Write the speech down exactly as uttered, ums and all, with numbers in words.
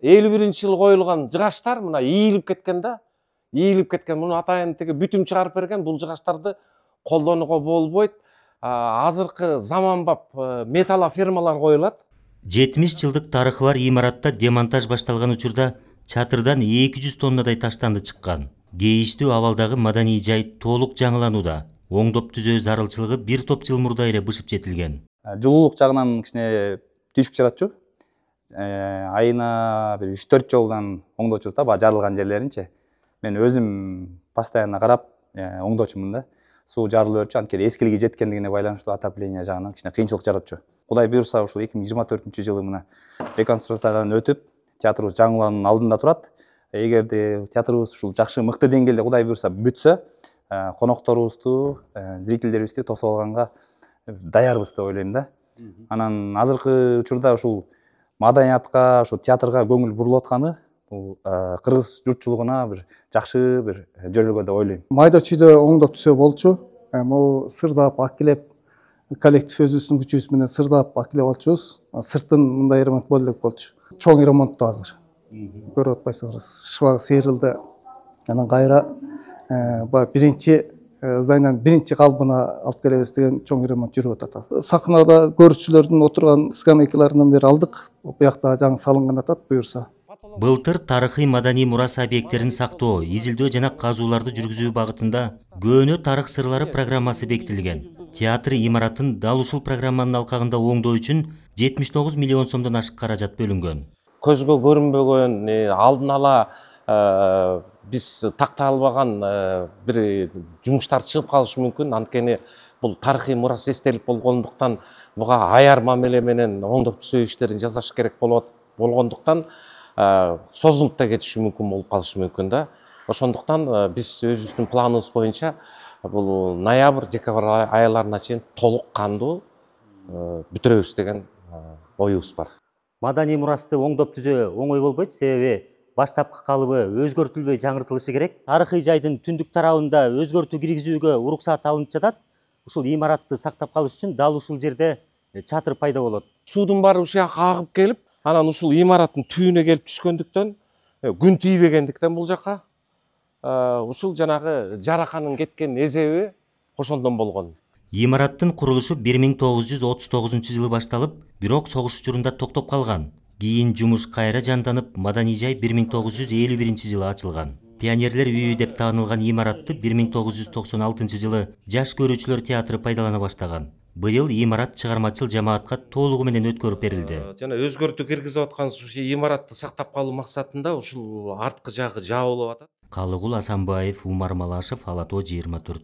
элүү биринчи жылы коюлган жыгачтар мына ийилип кеткен да. Ийилип кеткен. Муну атайын теге бүтүм чыгарып берген. Бул жыгачтарды колдонууга болбойт. Азыркы заманбап металлофермалар коюлат. жетимиш жылдык тарыхы бар имаратта демонтаж башталган учурда чатырдан эки жүз тоннадай таштанды чыккан. Кейиштүү абалдагы маданий жай толук жаңыланууда. Оңдоп түзөө зарылчылыгы бир топ жыл мурда эле бышып жетилген. Жылуулук жагынан кичине түшүк жаратчу. Айына бир үч төрт жолдан оңдочубуз да, баягы жарылган жерлеринчи. Мен өзүм постоянно карап оңдочумун да. Суу жарылып өрчү, анткени эскилиги жеткендигине байланыштуу отопление жагынан кичине кыйынчылык жаратчу. Кудай буюрса ушул эки миң жыйырма төртүнчү жылы мына реконструкциядан өтүп, театрыбыз жаңылануунун алдында турат. Эгерде театрыбыз ушул жакшы мыкты деңгээлде Кудай буюрса бүтсө, конокторубузду, зрительдерибизди тосуп алганга даярбыз деп ойлойм да. Анан азыркы учурда ушул маданиятка, ушул театрга көңүл бурулуп атканы бул кыргыз журтчулугуна бир жакшы бир жөрөлгө деп ойлойм. Майда чүйдө оңдоп түзөө болчу. Могу сырдап акилеп коллектив өзүбүздүн күчүбүз менен сырдап акилеп алчубуз. Сыртын мындай ремонт боло элек болчу. Чоң ремонтту азыр. Көрүп атпайсыңарбы, шыбагы сейрилди. Анан кайра баягы биринчи зданиянын биринчи калыбына алып келебиз деген чоң ремонт жүрүп атат. Сахнада көрүүчүлөрдүн отурган скамейкаларынан бери алдык. Буякта жаңы салынган атат буюрса. Былтыр тарыхый маданий мурас объекттерин сактоо, изилдөө жана казууларды жүргүзүү багытында көөнө тарых сырлары программасы бекитилген. Театр имаратын дал ушул программанын алкагында оңдоо үчүн жетимиш тогуз миллион сомдон ашык каражат бөлүнгөн. Көзгө көрүнбөгөн, алдын ала биз тактай албаган бир жумуштар чыгып калышы мүмкүн. Анткени бул тарыхый мурас эстелик болгондуктан буга аяр мамиле менен оңдоп түзөө иштерин жасаш керек болгондуктан созулуп да кетиши мүмкүн болуп калышы мүмкүн да. Ошондуктан биз өзүбүздүн планыбыз боюнча бул ноябрь, декабрь айларына чейин толук кандуу бүтүрөбүз деген оюбуз бар. Маданий мурасты оңдоп түзөө оңой болбойт, себеби баштапкы калыбы өзгөртүлбөй жаңыртылышы керек. Тарыхый жайдын түндүк тарабында өзгөртүү киргизүүгө уруксат алынып жатат. Ушул имаратты сактап калыш үчүн дал ушул жерде чатыр пайда болот. Суудун баары ушул жака агып келип, анан ушул имараттын түбүнө келип түшкөндүктөн, күн тийбегендиктен бул жака ушул жанагы жараканын кеткен эзеби ошондон болгон. Имараттын курулушу бир миң тогуз жүз отуз тогузунчу жылы башталып, бирок согуш учурунда токтоп калган. Кийин жумуш кайра жанданып, маданий жай бир миң тогуз жүз элүү биринчи жылы ачылган. Пионерлер үйү деп таанылган имаратты бир миң тогуз жүз токсон алтынчы жылы жаш көрүүчүлөр театры пайдалана баштаган. Быйыл имарат чыгармачыл жамаатка толугу менен өткөрүп берилди. Жана өзгөртүү киргизип аткан ушул имаратты сактап калуу максатында ушул арткы жагы жабылып атат. Калыгул Асанбаев, Умар Малашев, Ала тоо жыйырма төрт.